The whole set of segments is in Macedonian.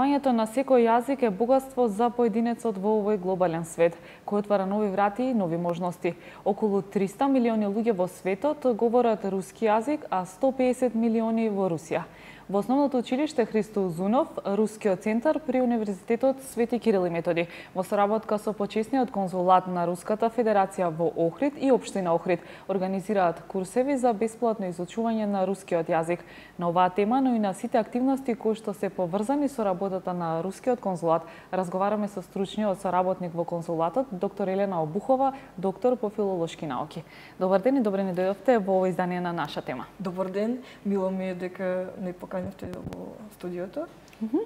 Знаењето на секој јазик е богатство за поединецот во овој глобален свет, кој отвара нови врати и нови можности. Околу 300 милиони луѓе во светот говорат руски јазик, а 150 милиони во Русија. Во основното училиште Христо Узунов, Рускиот центар при Универзитетот Свети Кирил и Методи, во соработка со почесниот конзулат на Руската Федерација во Охрид и општина Охрид, организираат курсеви за бесплатно изучување на рускиот јазик. На оваа тема, но и на сите активности кои што се поврзани со работата на Рускиот конзулат, разговараме со стручниот соработник во конзулатот, доктор Елена Обухова, доктор по филолошки науки. Добар ден и добре ни дојдовте во ова издание на наша тема. Добар ден, мило ми е дека не поканивте во студиото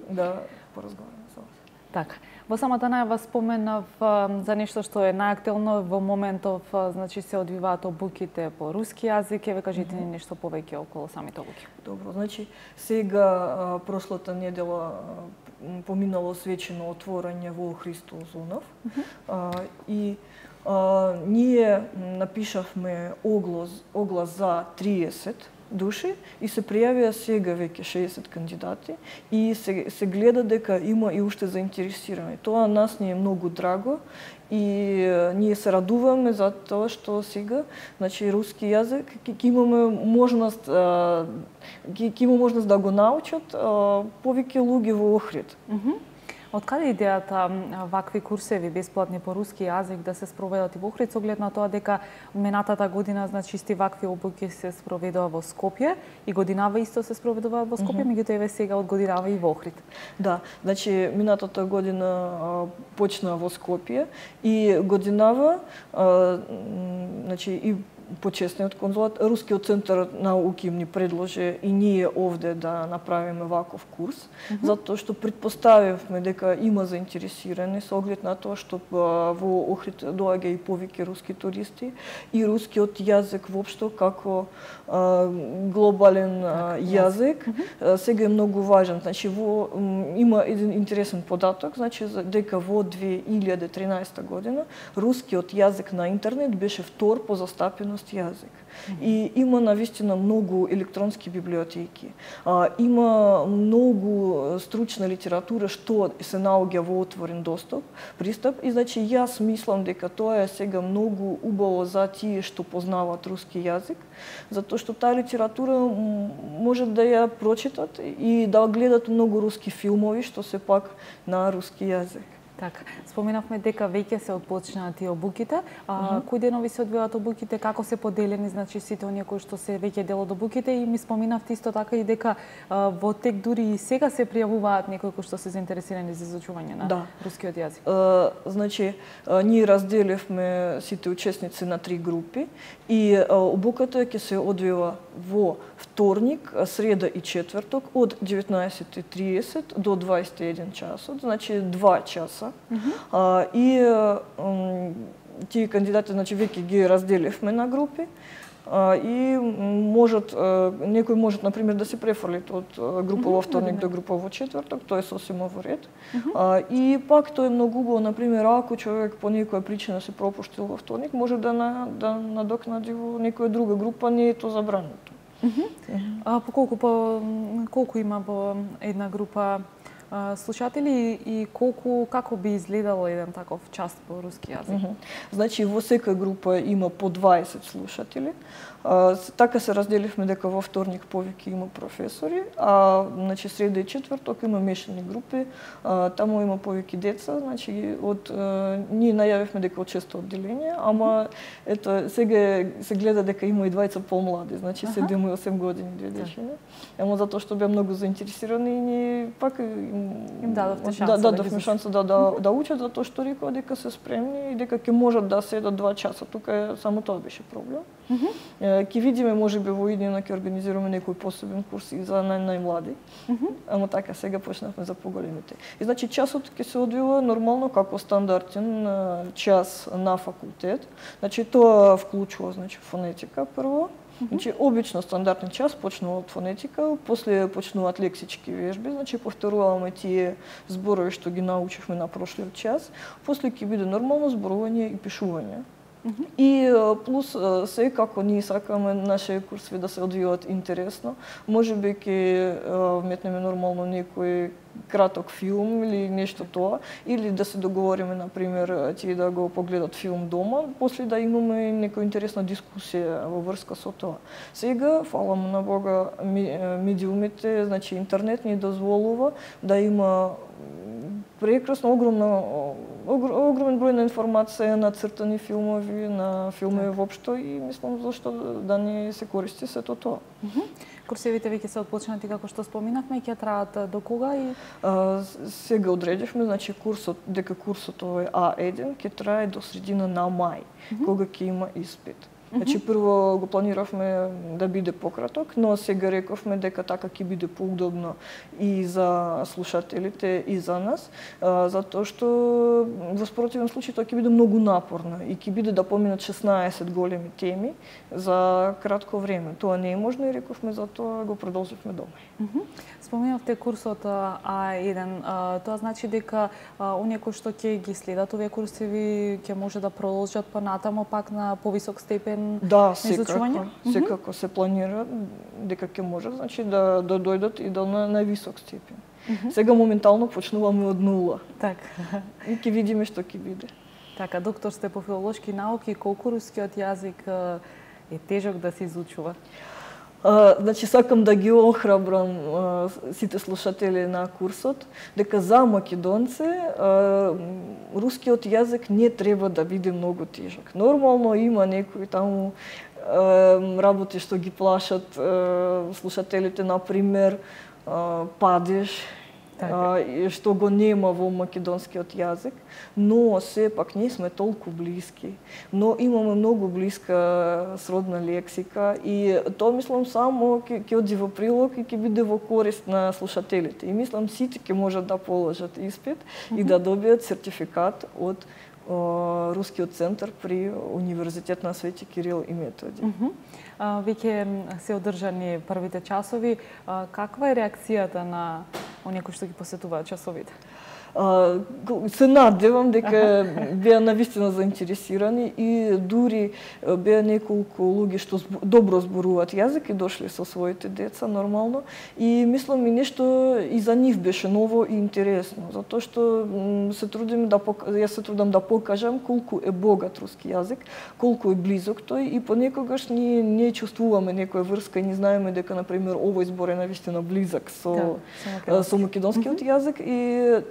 да поразговараме со вас. Така. Во самата најава споменав за нешто што е најактуелно во моментов, значи се одвиваат обуките по руски јазик. Еве кажете ни нешто повеќе околу самите обуки. Добро, значи сега прошлата недела поминало свечено отворање во Христо Узунов и ние напишавме оглас за 30 души и се пријавија сега веќе 60 кандидати и се гледа дека има и уште заинтересирани. Тоа нас ни е многу драго и ние се радуваме за тоа што сега, значи руски јазик ќе имаме можност да го научат повеќе луѓе во Охрид. Од каде идејата вакви курсеви бесплатни по руски јазик да се спроведат и во Охрид, со оглед на тоа дека минатата година, значи исти вакви обуки се спроведува во Скопје и годинава исто се спроведува во Скопје, меѓутоа еве сега од годинава и во Охрид. Да, значи минатата година почна во Скопје и годинава, значи и почесниот конзулат, Рускиот центар науки ни предложи и ние овде да направиме ваков курс, затоа што претпоставивме дека има заинтересирани со оглед на тоа што во Охрид доаѓа и повеќе руски туристи и рускиот јазик воопшто како глобален јазик сега е многу важен. Значи има еден интересен податок, значи дека во 2013 година рускиот јазик на интернет беше втор по застапеност јазик. И има навистина многу електронски библиотеки. Има многу стручна литература што се наоѓа во отворен пристап и значи јас мислам дека тоа е сега многу убаво за тие што познаваат руски јазик, затоа што таа литература може да ја прочитат и да гледат многу руски филмови што се пак на руски јазик. Така, споменавме дека веќе се отпочнати обуките. Кои денови се одвиваат обуките, како се поделени, значи сите оние кои што се веќе дел од обуките и ми споминавте исто така и дека во тек дури и сега се пријавуваат некои кои што се заинтересирани за изучување на рускиот јазик. Значи, ние разделивме сите учесници на 3 групи и обуката ќе се одвива во вторник, среда и четврток од 19:30 до 21 часот, значи 2 часа. И тие кандидати, значи веќе ги разделивме на групи и некој можат например да се префрлит од група во вторник до група во четврток, тоа е сосема во ред. И пак тоа е многу убаво, например, ако човек по некоја причина се пропуштил во вторник, може да надокнади во некоја друга група, не е тоа забрането. Колку има во една група слушатели и како би изгледало еден таков час по руски јазик? Значи во секоја група има по 20 слушатели. Така се разделивме дека во вторник повеќе има професори, а значи среда и четврток има мешани групи, таму има повеќе деца, значи ние најавивме дека од 6 одделение, ама ето сега се гледа дека има и двајца помлади, значи 7 и 8 години две дечиња. Ама затоа што беа многу заинтересирани и ние пак им дадовме шанса да учат, затоа што рекоа дека се спремни и дека ќе можат да седат 2 часа. Тука само тоа беше проблем. Ќе видиме, можеби во иднина ќе организираме некој посебен курс и за најмлади. Ама така сега почнавме за поголемите. И значи часот ќе се одвива нормално како стандартен час на факултет. Значи тоа вклучува значи фонетика прво. Значи обично стандартен час почнува од фонетика, после почнуваат лексички вежби, значи повторуваме тие зборови што ги научивме на прошлиот час, после ќе биде нормално зборување и пишување. И плюс секако ние сакаме нашите курсови да се одвијаат интересно. Можеби ќе вметнеме нормално некој краток филм или нешто тоа, или да се договориме, например, тие да го погледат филм дома, после да имаме некоја интересна дискусија во врска со тоа. Сега, фала на Бога, медиумите, значи интернет ни дозволува да има прекрасно огромен број на информација, на цртани филмови, на филмови воопшто и мислам зашто да не се користи сето тоа. Курсевите веќе се отпочнати како што споминавме, ќе траат до кога и сега одредивме, значи дека курсот овој А1 ќе трае до средина на мај, кога ќе има испит. Значи прво го планиравме да биде пократок, но сега рековме дека така ќе биде поудобно и за слушателите и за нас, затоа што во спротивен случај тоа ќе биде многу напорно и ќе биде да поминат 16 големи теми за кратко време. Тоа не е можно и рековме затоа го продолживме до мај. Споминавте курсот А1, тоа значи дека оние кои што ќе ги следат овие курсеви ќе може да продолжат понатамо пак на повисок степен. Да, секако се планира дека ќе може, значи да дојдат и до највисок степен. Сега моментално почнуваме од нула. Така. И ќе видиме што ќе биде. Така, доктор сте по филолошки науки, колку рускиот јазик е тежок да се изучува? Значи, сакам да ги охрабрам сите слушатели на курсот, дека за македонци рускиот јазик не треба да биде многу тежок. Нормално има некои таму работи што ги плашат слушателите, например, падеж, што го нема во македонскиот јазик, но сепак ние сме толку блиски, но имаме многу блиска сродна лексика и тоа мислам само ќе оди во прилог и ќе биде во корист на слушателите. И мислам сите ќе можат да положат испит и да добијат сертификат од Рускиот центар при Универзитет на Свети Кирил и Методи. Веќе се одржани првите часови. Каква е реакцијата на оние кои што ги посетуваат часовите? Се надевам дека беа навистина заинтересирани и дури беа неколку луѓе што добро зборуваат јазик и дошле со своите деца нормално и мислам и нешто и за нив беше ново и интересно, затоа што се трудим јас се трудам да покажам колку е богат руски јазик, колку е близок тој и понекогаш ние не чувствуваме некоја врска и не знаеме дека на пример овој збор е навистина близок со македонскиот јазик и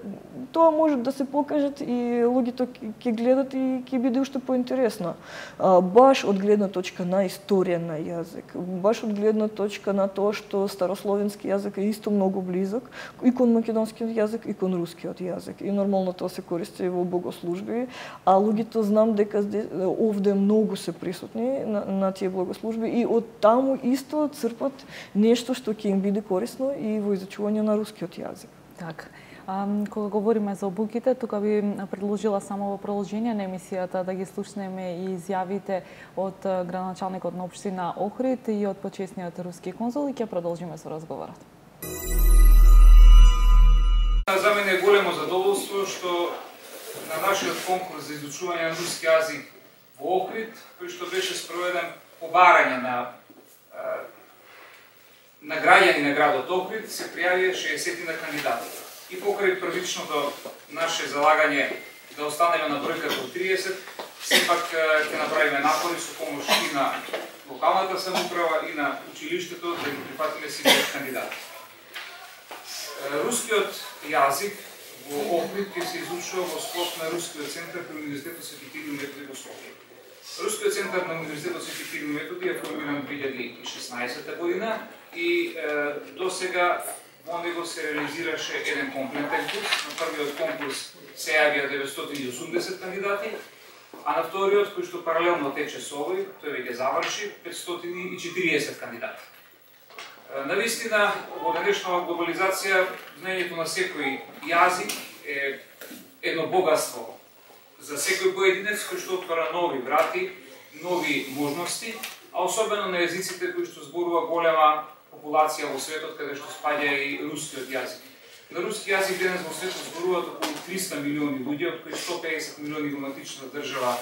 тоа може да се покажат и луѓето ќе гледат и ќе биде уште поинтересно. Баш од гледна точка на историја на јазик, баш од гледна точка на тоа што старословенски јазик е исто многу близок и кон македонскиот јазик и кон рускиот јазик. И нормално тоа се користи во богослужби, а луѓето знам дека овде многу се присутни на тие богослужби и од таму исто црпат нешто што ќе им биде корисно и во изучување на рускиот јазик. Така. Кога говориме за обуките, тука би предложила само во продолжение на емисијата да ги слушнеме и изјавите од градоначалникот на општина Охрид и од почесниот руски конзул и ќе продолжиме со разговорот. За мене е големо задоволство што на нашиот конкурс за изучување на руски јазик во Охрид, кој што беше спроведен по барање на граѓани на градот Охрид, се пријавија 60 кандидати. И покрај првичното наше залагање да останеме на бројката од 30, сепак ќе направиме напори со помош и на локалната самоуправа и на училиштето да ги прифатиме сите кандидати. Рускиот јазик во Охрид ќе се изучува во склоп на Рускиот центар при Универзитетот Свети Кирил и Методи во Скопје. Рускиот центар на Универзитетот Свети Кирил и Методи е формиран 2016 година и до сега во него се реализираше еден комплетен курс. На првиот конкурс се јавија 980 кандидати, а на вториот, кој што паралелно тече со овој, тој веќе заврши 540 кандидати. Навистина, во денешната глобализација, знаењето на секој јазик е едно богатство за секој поединец кој што отвара нови врати, нови можности, а особено на јазиците кои што зборува голема популација во светот, каде што спаѓа и рускиот јазик. На руски јазик денес во светот зборуваат околу 300 милиони луѓе, од кои 150 милиони во матичната држава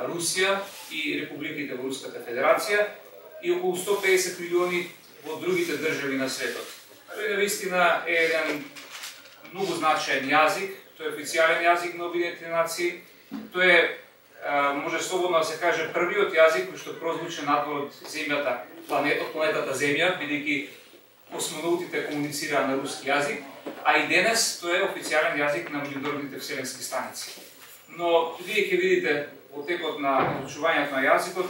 Русија и републиките во Руската Федерација и околу 150 милиони во другите држави на светот. Тој навистина е еден многу значаен јазик, тој е официјален јазик на Обединетите нации, тој е, може слободно да се каже, првиот јазик кој што прозвучи надвор од земјата, планетата Земја, бидејќи космонаутите комуницираа на руски јазик, а и денес тој е официјален јазик на меѓународните вселенски станици. Но вие ќе видите во текот на изучувањето на јазикот,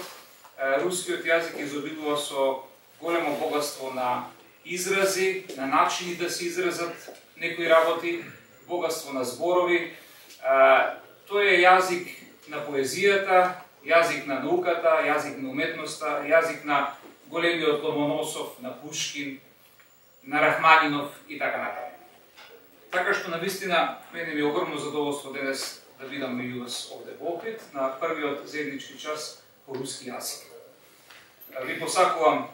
рускиот јазик изобилува со големо богатство на изрази, на начини да се изразат некои работи, богатство на зборови. Тој е јазик на поезијата, јазик на науката, јазик на уметноста, јазик на големиот Ломоносов, на Пушкин, на Рахманинов и така натаму. Така што навистина мене ми е огромно задоволство денес да бидам меѓу вас овде во Охрид на првиот заеднички час по руски јазик. Ви посакувам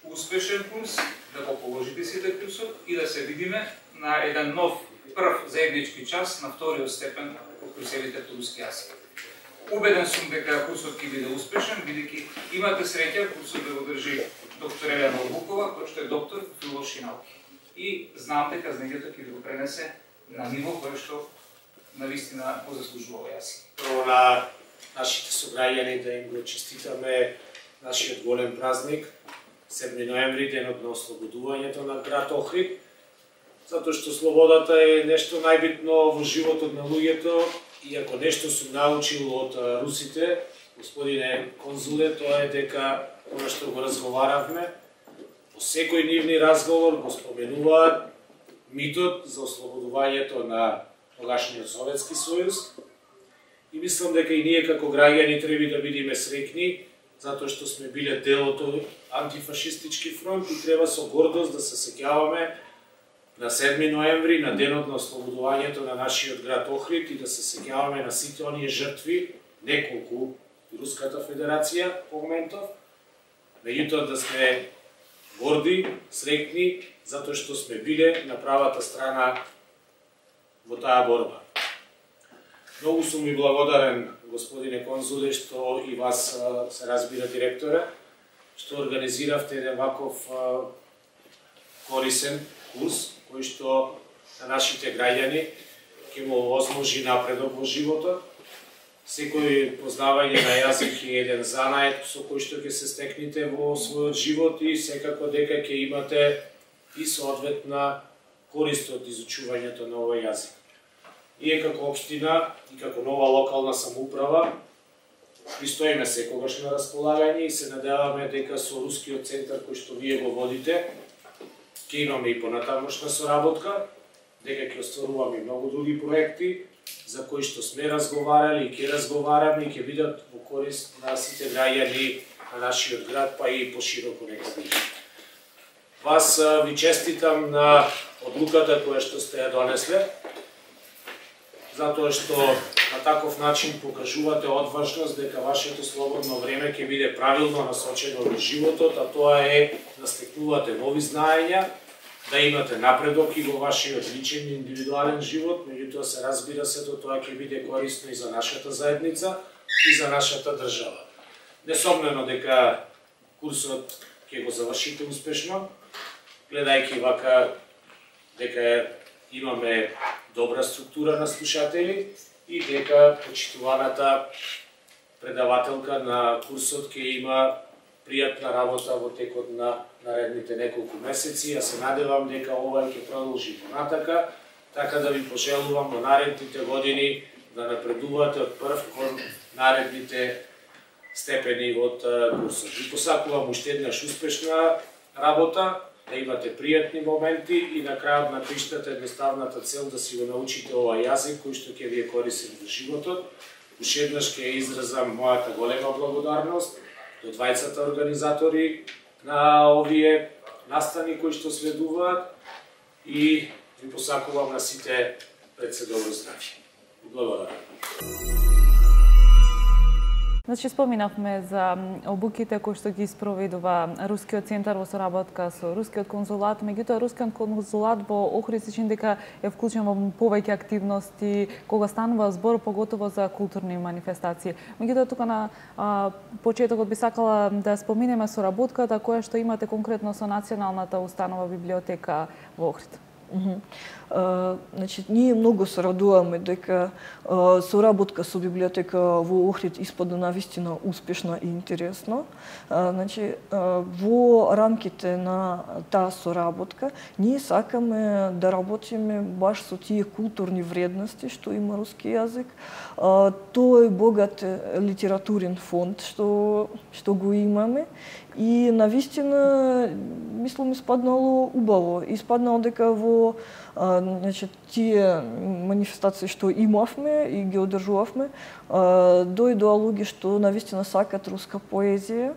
успешен курс, да го положите сите курсот и да се видиме на еден нов прв заеднички час на вториот степен кој се видите по руски јазик. Убеден сум дека курсот ќе биде успешен, бидејќи имате среќа курсот да го држи доктор Елена Орбукова, кој што е доктор филолошки науки. И знам дека знаењето ќе ви го пренесе на ниво кое што навистина го заслужува јазик. Прво на нашите сограѓани да им го честитаме нашиот голем празник, 7 ноември, денот на ослободувањето на град Охрид, затоа што слободата е нешто најбитно во животот на луѓето и ако нешто сум научил од русите, господине конзуле, тоа е дека тоа што го разговаравме, во секој нивни разговор го споменуваат митот за ослободувањето на тогашниот Советски сојуз и мислам дека и ние како граѓани треба да бидеме среќни затоа што сме биле дел од тој антифашистички фронт и треба со гордост да се сеќаваме на 7 ноември, на денот на ослободувањето на нашиот град Охрид и да се сеќаваме на сите оние жртви, неколку и Руската Федерација по моментов, меѓутоа да сме горди, среќни, затоа што сме биле на правата страна во таа борба. Многу сум ви благодарен, господине конзуле, што и вас се разбира директора, што организиравте еден ваков корисен курс, кој што на нашите граѓани ќе му овозможи напредок во животот. Секој познавање на јазик е еден занаед со кој што ќе се стекнете во својот живот и секако дека ќе имате и соодветна корист од изучувањето на овој јазик. Ние како општина и како нова локална самоуправа пристоиме секогаш на располагање и се надеваме дека со Рускиот центар кој што вие го водите ќе имаме и понатамошна соработка, дека ќе остваруваме и многу други проекти за кои што сме разговарали и ќе разговараме и ќе бидат во корист на сите граѓани на нашиот град, па и пошироко некаде. Вас ви честитам на одлуката која што сте ја донесле, затоа што на таков начин покажувате одважност дека вашето слободно време ќе биде правилно насочено во животот, а тоа е да стекнувате нови знаења, да имате напредок и во вашиот личен и индивидуален живот, меѓутоа се разбира сето тоа ќе биде корисно и за нашата заедница и за нашата држава. Несомнено дека курсот ќе го завршите успешно, гледајќи вака дека имаме добра структура на слушатели и дека почитуваната предавателка на курсот ќе има пријатна работа во текот на наредните неколку месеци. Ја се надевам дека ова ќе продолжи понатака, така да ви пожелувам во наредните години да напредувате од прв кон наредните степени од курсот. Ви посакувам уште еднаш успешна работа, да имате пријатни моменти и на крајот на криштата едноставната цел да си го научите овој јазик кој што ќе ви е корисен во животот. Уште еднаш ќе изразам мојата голема благодарност до двајцата организатори на овие настани кои што следуваат и ви посакувам на сите пред се добро здравје. Благодарам. Значи, споминавме за обуките кои што ги спроведува Рускиот центар во соработка со Рускиот конзулат, меѓутоа Рускиот конзулат во Охрид се чини дека е вклучен во повеќе активности кога станува збор поготово за културни манифестации. Меѓутоа тука на почетокот би сакала да споминеме соработката која што имате конкретно со Националната установа библиотека во Охрид. Значи, ние многу се радуваме дека соработка со библиотека во Охрид испадна навистина успешна и интересна. Значи, во рамките на таа соработка ние сакаме да работиме баш со тие културни вредности што има руски јазик. Тој богат литературен фонд што го имаме и навистина мислам испаднало убаво. Испаднало дека во значи, тие манифестации што имавме и ги одржувавме, дојдоа луѓе што навистина сакат руска поезија.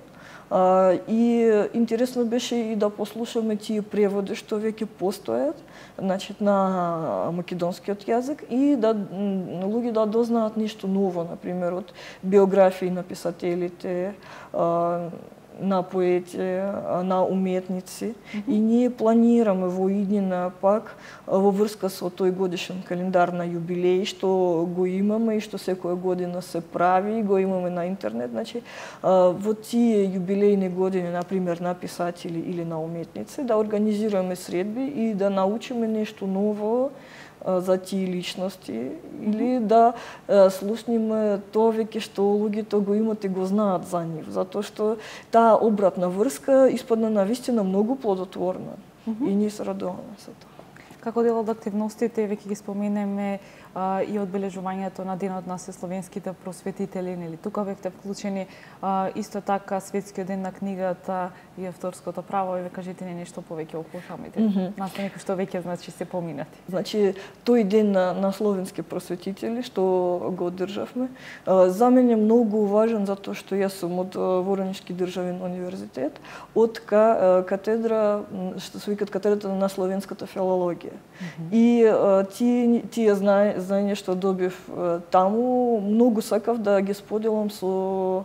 И интересно беше и да послушаме тие преводи што веќе постојат, значи на македонскиот јазик и да луѓе да дознаат нешто ново, например од биографии на писателите, на поети, на уметници. И ние планираме во иднина пак во врска со тој годишен календар на јубилеи што го имаме и што секоја година се прави, го имаме на интернет. Значи, во тие јубилејни години, например, на писатели или на уметници, да организираме средби и да научиме нешто ново за тие личности или да слушниме тоа веќе што луѓето го имат и го знаат за нив, затоа што таа обратна врска испадна навистина многу плодотворна и ние се радуваме за тоа. Како дел од активностите, веќе ги споменеме и одбележувањето на денот на сесловенските просветители, нели тука бевте вклучени, исто така светскиот ден на книгата и авторското право, и ве кажете ни нешто повеќе околу самите настани кои што веќе значи се поминати. Значи тој ден на словенски просветители што го одржавме, за мене е многу важен затоа што јас сум од Воронишки државен универзитет, од катедра што се викат катедрата на словенската филологија. И тие знаење што добив таму, многу сакав да ги споделам со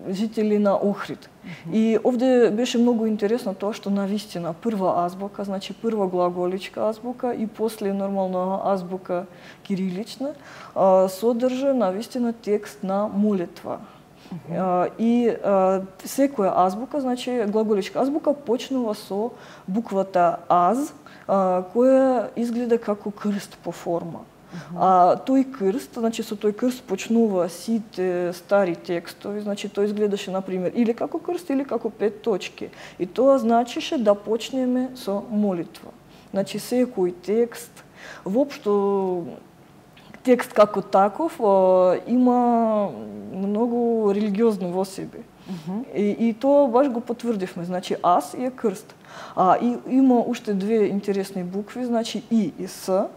жители на Охрид. И овде беше многу интересно тоа што навистина прва азбука, значи прва глаголичка азбука и после нормална азбука кирилична, содржа навистина текст на молитва. И секоја азбука, значи глаголичка азбука почнува со буквата аз, која изгледа како крст по форма. Тој крст, значи со тој крст почнува сите стари текстови, значи тој изгледаше например или како крст или како 5 точки. И тоа значише да почнеме со молитва. Значи секој текст, воопшто текст како таков има многу религиозно во себе. И тоа баш го потврдивме, значи аз е крст. И има уште две интересни букви, значи и с,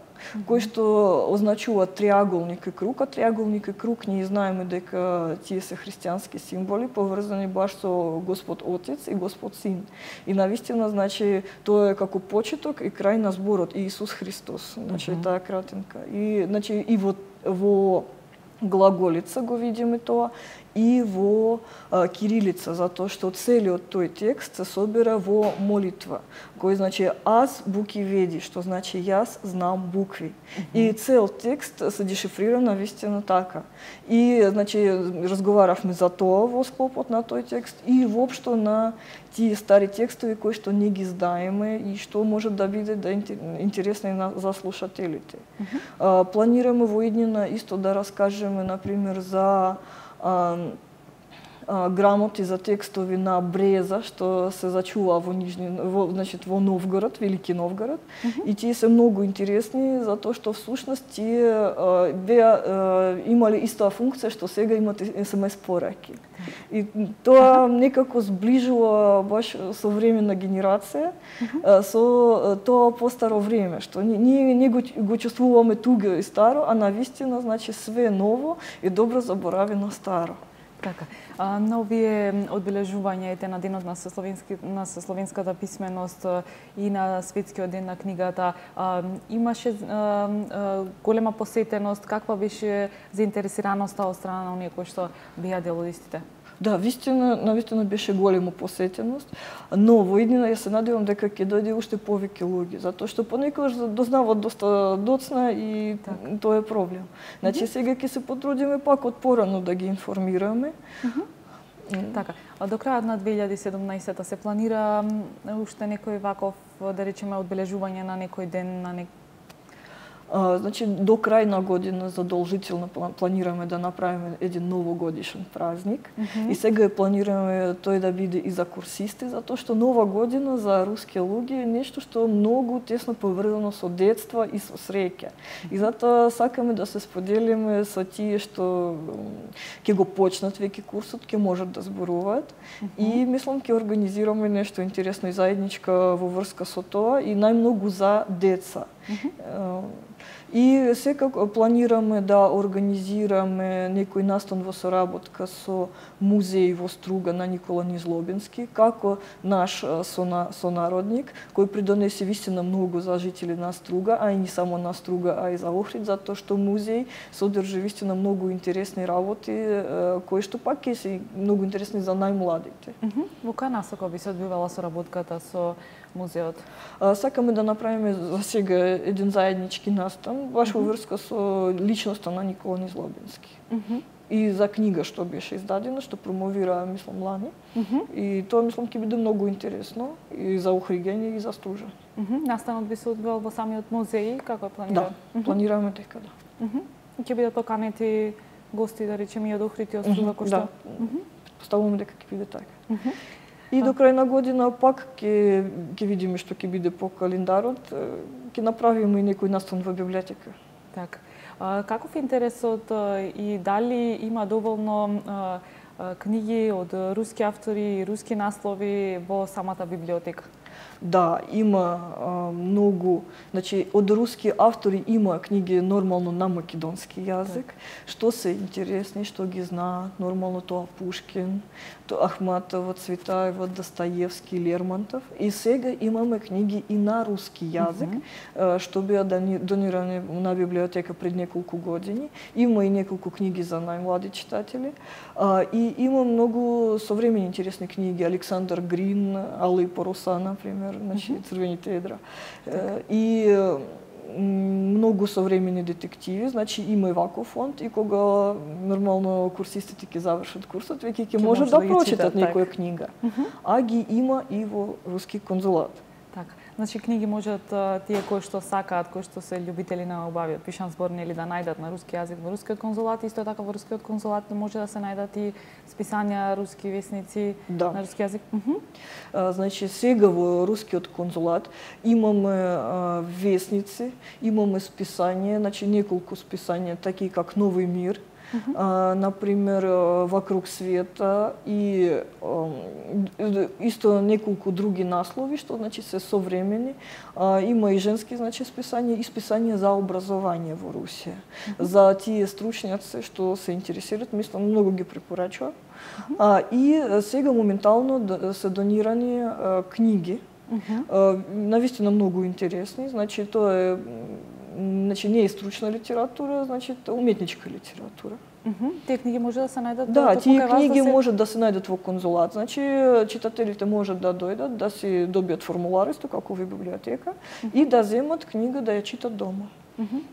кои што означуваат триаголник и круг, а триаголник и круг ние знаеме дека тие се христијански символи поврзани баш со Господ Отец и Господ Син. И навистина значи тоа е како почеток и крај на зборот Иисус Христос, значи таа кратинка. И значи и во глаголица го видиме тоа и во кирилица, затоа што целиот тој текст се собира во молитва, кој значи аз буки веди, што значи јас знам букви. И цел текст се дешифрира навистина така. И значи разговаравме за тоа во склопот на тој текст и воопшто на тие стари текстови кои што не ги знаеме и што може да биде интересни за слушателите. Планираме во иднина исто да раскажеме например за грамоти за текстови на Бреза што се зачува во Новгород, Велики Новгород, и тие се многу интересни затоа што всушност тие имале истаа функција што сега имат SMS пораки. И тоа некако сближува баш современа генерација со тоа постаро време, што ние го чувствуваме туга и старо, а навистина значи све ново и добро заборавено старо. Така. На овие одбележувања на денот на словенската писменост и на светскиот ден на книгата имаше голема посетеност. Каква беше заинтересираноста од страна на оние кои што беа дел од истите? Да, навистина беше голема посетеност, но во иднина ја се надевам дека ќе дојде уште повеќе луѓе, затоа што понекогаш дознават доста доцна и тоа е проблем. Значи сега ќе се потрудиме пак од порано да ги информираме. Така, до крајот на 2017 се планира уште некој ваков, да речеме, одбележување на некој ден, на Значи, до крај на година задолжително планираме да направиме еден новогодишен празник. И сега планираме тој да биде и за курсисти, затоа што нова година за руски луѓе е нешто што многу тесно поврзано со детство и со среќа. И затоа сакаме да се споделиме со тие што ќе го почнат веќе курсот, ќе можат да зборуваат. И мислам ќе организираме нешто интересно и заедничка во врска со тоа и најмногу за деца. И секако планираме да организираме некој настан во соработка со музеј во Струга на Никола Низлобински, како наш сонародник, кој придонесе вистина многу за жители на Струга, а и не само на Струга, а и за Охрид, затоа што музеј содржи вистина многу интересни работи, кои што пак ќе се многу интересни за најмладите. Во која насока би се одвивала соработката со музеот? Сакаме да направиме за сега еден заеднички настан, баш во врска со личноста на Никола Низлобински. И за книга што беше издадена, што промовира, мислам, лани. И тоа, мислам, ќе биде многу интересно и за Охриѓање и за Стружа. Настанот би се одвил во самиот музеј, како е планирано? Да, планираме дека да. Ќе бидат поканети гости, да речеме, и од Охрид и од Струва, кој што? Поставуваме дека ќе биде така. И до крај на година пак ќе видиме што ќе биде по календарот, ќе направиме и некој настан во библиотека. Така. Каков е интересот и дали има доволно книги од руски автори и руски наслови во самата библиотека? Да, има многу, значи од руски автори има книги нормално на македонски јазик, што се интересни, што ги знаат, нормално тоа Пушкин, тоа Ахматова, Цветаева, Достоевски, Лермонтов. И сега имаме книги и на руски јазик, што беа донирани на библиотека пред неколку години. Има и неколку книги за најмлади читатели. И има многу современи интересни книги, Александър Грин, Алла и паруса, например, значи Црвените едра. И многу современи детективи, значи има и ваков фонд и кога нормално курсистите ќе завршат курсот, веќе ќе можат да прочитат некоја книга. А ги има и во руски конзулат. Така. Значи книги можат тие кои што сакаат, кои што се љубители на убавиот пишан збор, нели, да најдат на руски јазик во рускиот конзулат, исто така во рускиот конзулат може да се најдат и списања, руски весници на руски јазик. Значи сега во рускиот конзулат имаме весници, имаме списање, значи неколку списања, таки как Нови мир, например, Вокруг света и исто неколку други наслови што значи се современи. Има и женски значи списања и списања за образование во Русија. За тие стручњаци што се интересираат, мислам многу ги препорачувам. И сега моментално се донирани книги. Навистина многу интересни, значи тоа е не е стручна литература, значи уметничка литература. Тие книги може да се најдат? Да, тие книги можат да се најдат во конзулат. Значи читателите можат да дојдат, да си добијат формулар исто како во библиотека и да земат книга да ја читат дома.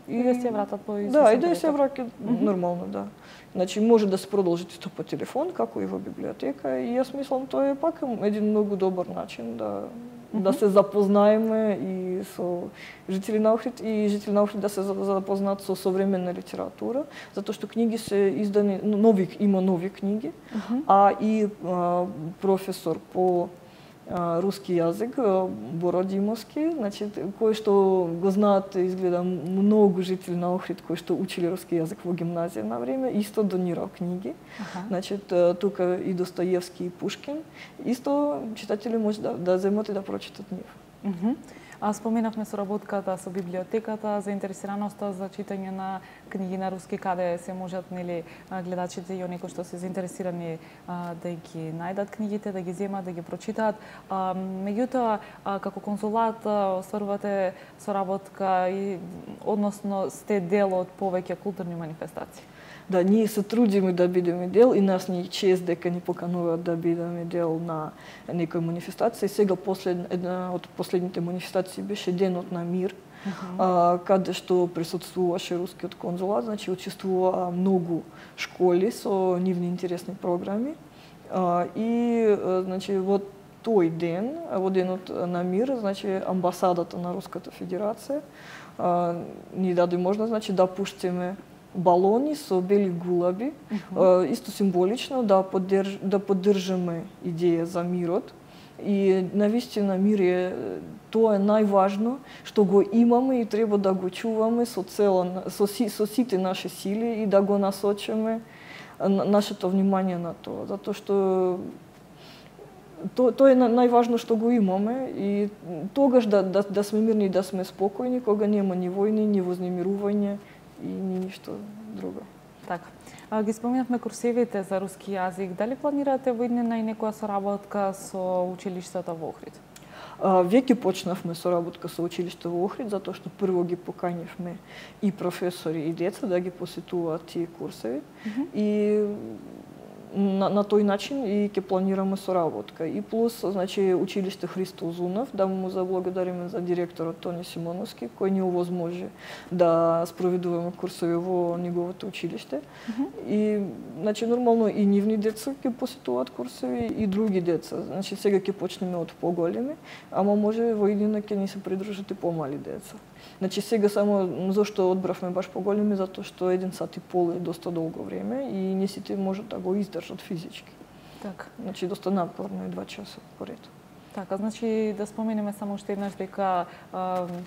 И да се вратат по изписањето. Да, и да се враќат нормално, да. Значи може да се продолжи исто по телефон како и во библиотека и јас мислам тоа е пак еден многу добар начин да се запознаеме и со жители на Охрид и жители на Охрид да се запознаат со современна литература, затоа што книги се издани има нови книги, а и професор по руски јазик, Боро Димовски, значи кој што го знаат изгледа многу жители на Охрид кои што учили руски јазик во гимназија на време, исто донирал книги. Значи тука и Достоевски и Пушкин, исто читатели може да земат и да прочитат нив. Споменавме соработката со библиотеката, заинтересираноста за читање на книги на руски, каде се можат гледачите и оние кои што се заинтересирани да ги најдат книгите, да ги земат, да ги прочитаат. Меѓутоа, како конзулат остварувате соработка и односно сте дел од повеќе културни манифестации. Да, ние се трудиме да бидеме дел и нас ни чест дека ни покануваат да бидеме дел на некоја манифестација. Сега една од последните манифестации беше Денот на мир, каде што присуствуваше рускиот конзулат, значи учествува многу школи со нивни интересни програми. И значи во тој ден, во Денот на мир, значи амбасадата на Руската Федерација ни даде можност, значи да пуштиме балони со бели гулаби, исто символично да поддржаме идеја за мирот. И навистина мир е тоа е најважно што го имаме и треба да го чуваме со сите наши сили и да го насочиме нашето внимание на тоа, затоа што тоа е најважно што го имаме и тогаш да сме мирни и да сме спокојни кога нема ни војни, ни вознемирување и ни ништо друго. Така. Ги спомнавме курсевите за руски јазик. Дали планирате во иднина и некоја соработка со училиштата во Охрид? Веќе почнавме соработка со училиште во Охрид, затоа што прво ги поканивме и професори и деца да ги посетуваат тие курсеви. И на тој начин и ќе планираме соработка. И плюс, значи, училиште Христо Узунов, да му заблагодариме за директорот Тони Симоновски, кој ни овозможи да спроведуваме курсови во неговото училиште. И, значи, нормално и нивни деца ќе посетуваат курсови и други деца. Значи, сега ќе почнеме од поголеми, ама може во иднина ќе ни се придружат и помали деца. Значи сега само зашто одбравме баш поголеми, затоа што 1 сат и пол е доста долго време и не сите можат да го издржат физички. Така. Значи доста напорно е 2 часа поред. Така, значи да споменеме само уште еднаш дека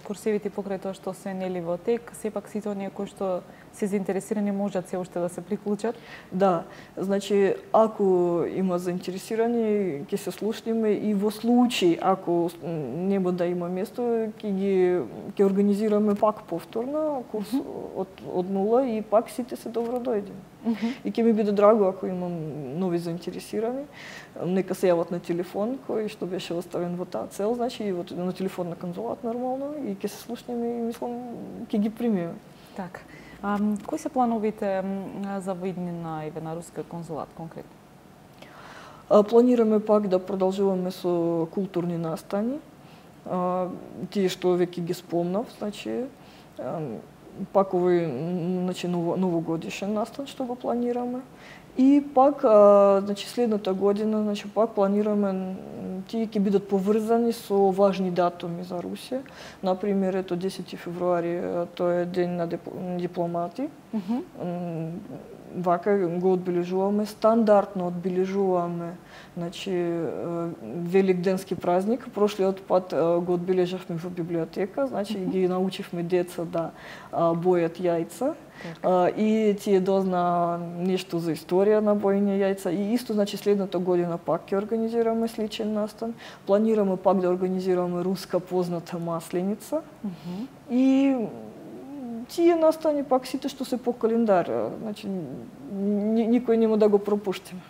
курсевите покрај тоа што се нели во тек, сепак сите оние кои што се заинтересирани можат се уште да се приклучат. Да, значи ако има заинтересирани ќе се слушнеме и во случај ако нема да има место ќе организираме пак повторно курс од нула и пак сите се добро дојдени. И ќе ми биде драго ако имам нови заинтересирани, нека се јават на телефон кој што беше оставен во таа цел, значи и на телефон на конзулат нормално и ќе се слушнеме и мислам ќе ги примиме. Така. Кои се плановите за воиднина на рускиот конзулат конкретно? Планираме пак да продолжуваме со културни настани. Тие што веќе ги спомнав, значи пак овој значи новогодишен настан што го планираме. И пак значи следната година значи пак планираме тие ќе бидат поврзани со важни датуми за Русија. Например, ето 10 февруари, тоа е ден на дипломати. Вака го одбележуваме, стандардно одбележуваме, значи великденски празник. Прошлиот пат го одбележавме во библиотека, значи ги научивме деца да бојат јајца. И тие дозна нешто за историја на боење јајца и исто значи следната година пак ќе организираме сличен настан. Планираме пак да организираме руска позната масленица. И тие настани пак сите што се по календар, значи никој нема да го пропуштиме.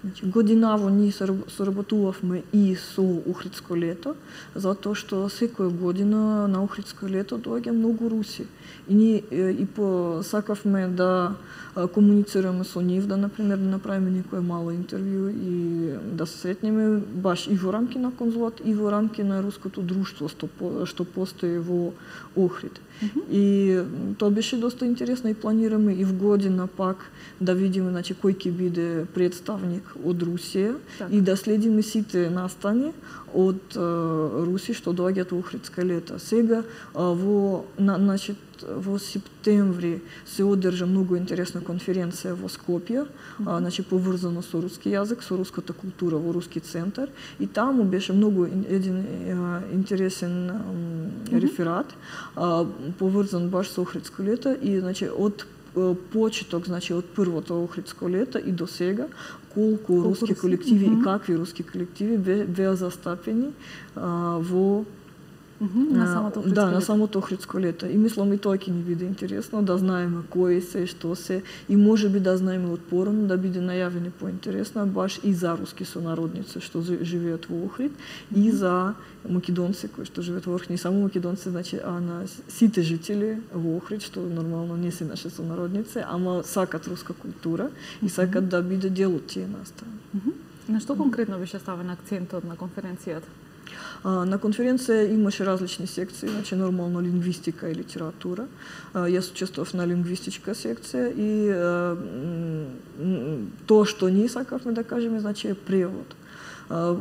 Значи, годинаво ние соработувавме и со Охридско лето, затоа што секоја година на Охридско лето доаѓа многу руси. И ние и посакавме да комуницираме со нив, да например да направиме некое мало интервју и да се сретнеме баш и во рамки на конзулат и во рамки на руското друштво што постои во Охрид. И тоа беше доста интересно и планираме и в година пак да видиме значи кој ќе биде представник од Русија и да следиме сите настани од Руси што доаѓаат во Охридско лето. Сега во септември се одржа многу интересна конференција во Скопје, значи поврзано со руски јазик, со руската култура во руски центар и таму беше многу еден интересен реферат поврзан баш со Охридско лето и значи од почеток, значи од првото Охридско лето и до сега, колку руски колективи и какви руски колективи беа застапени во на самото Охридско лето. И мислам и тоа ќе ни биде интересно да знаеме кои се, што се и можеби да знаеме од порано да биде најавени поинтересно баш и за руски сонародници што живеат во Охрид и за македонци кои што живеат во Охрид, не само македонци, значи на сите жители во Охрид што нормално не се наши сонародници, ама сакат руска култура и сакат да биде дел од тие настави. На што конкретно беше ставен акцентот на конференцијата? На конференција имаше различни секции, значи нормално лингвистика и литература. Јас учествував на лингвистичка секција и тоа што ние сакавме да кажеме, значи е превод.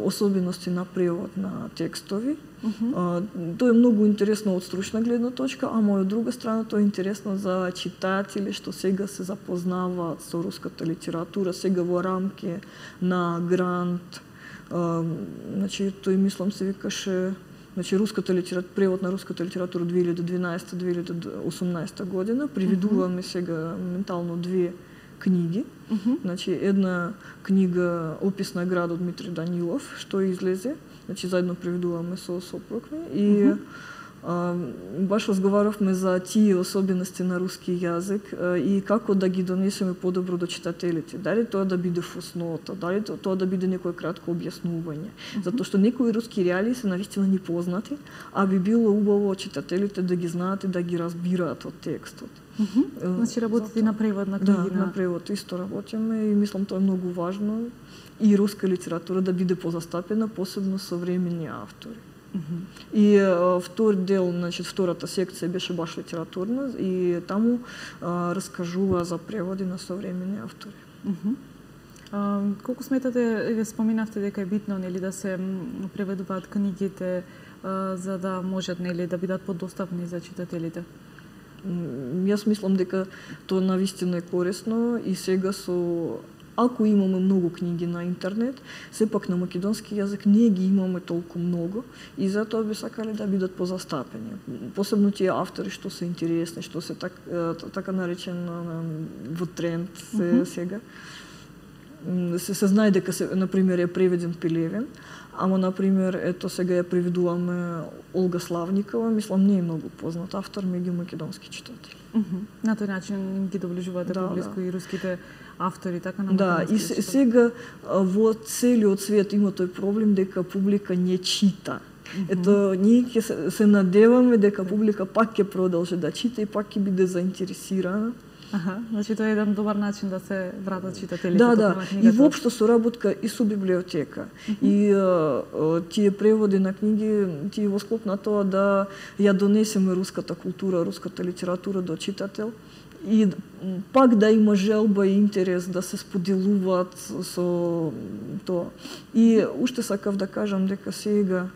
Особености на превод на текстови. Тоа е многу интересно од стручна гледна точка, ама од друга страна тоа е интересно за читатели што сега се запознаваат со руската литература, сега во рамки на грант. Значи, тој мислам се викаше, значи руската литература, превод на руската литература 2012-2018 година. Приведуваме сега ментално 2 книги. Значи една книга Опис на град од Дмитрий Данилов, што излезе, значи заедно приведуваме со сопруг ми и баш разговаравме за тие особености на руски јазик и како да ги донесеме подобро до читателите. Дали тоа да биде фуснота, дали тоа да биде некое кратко објаснување. Затоа што некои руски реалии се навистина непознати, а би било убаво читателите да ги знаат и да ги разбираат од текстот. Значи работите на превод на книги? Да, на превод исто работиме и мислам тоа е многу важно и руска литература да биде позастапена, посебно современи автори. И втор дел, значи втората секција беше баш литературна и таму раскажува за преводи на современи автори. Колку сметате, вие споминавте дека е битно нели да се преведуваат книгите за да можат нели да бидат подостапни за читателите? Јас мислам дека тоа навистина е корисно и сега со ако имаме многу книги на интернет, сепак на македонски јазик не ги имаме толку многу и затоа би сакале да бидат позастапени. Посебно тие автори што се интересни, што се така наречено во тренд сега. Се знае дека на пример е преведен Пелевин, ама на пример ето сега ја преведуваме Олга Славникова, мислам не е многу познат автор меѓу македонски читатели. На тој начин ги доближувате поблиску и руските автори, така на македонски. Да, и сега во целиот свет има тој проблем дека публика не чита. Ето, ние ќе се надеваме дека публика пак ќе продолжи да чита и пак ќе биде заинтересирана. Значи тоа е еден добар начин да се вратат читателите. Да, и воопшто соработка и со библиотека. И тие преводи на книги, тие во склоп на тоа да ја донесеме руската култура, руската литература до читател и пак да има желба и интерес да се споделуваат со тоа. И уште сакав да кажам дека сега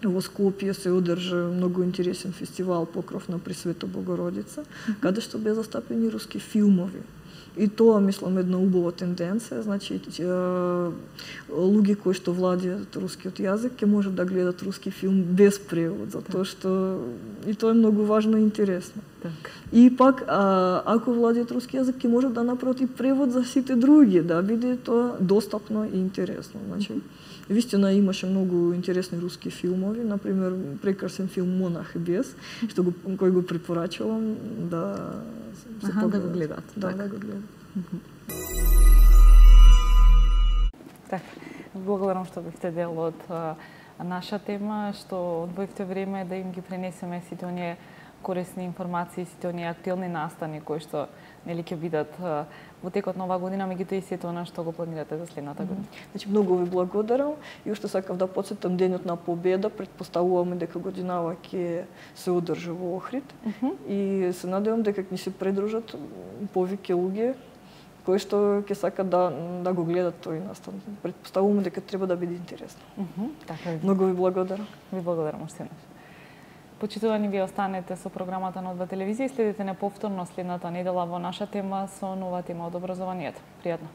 во Скопје се одржа многу интересен фестивал Покров на Пресвета Богородица, каде што беа застапени руски филмови. И тоа, мислам, една убава тенденција, значи луѓе кои што владеат рускиот јазик ќе можат да гледат руски филм без превод, затоа што и тоа е многу важно и интересно. И пак, ако владеат руски јазик, ќе можат да направат и превод за сите други, да биде тоа достапно и интересно. Значи, вистина имаше многу интересни руски филмови, например прекрасен филм Монах и бес, кој го препорачувам да се да го гледат. Да го гледат. Така, благодарам што бевте дел од наша тема, што одвоивте време да им ги пренесеме сите оние корисни информации, сите оние актуелни настани кои што нели ќе бидат во текот на оваа година, меѓутоа и сето она што го планирате за следната година. Значи многу ви благодарам и уште сакав да потсетам денот на победа, претпоставуваме дека годинава ќе се одржи во Охрид и се надевам дека ќе ни се придружат повеќе луѓе кои што ќе сакат да го гледат тој настан. Претпоставуваме дека треба да биде интересно. Така. Многу ви благодарам. Ви благодарам уште еднаш. Почитувани, вие останете со програмата на Одва телевизија и следите не повторно следната недела во наша тема со нова тема од образованието. Пријатно.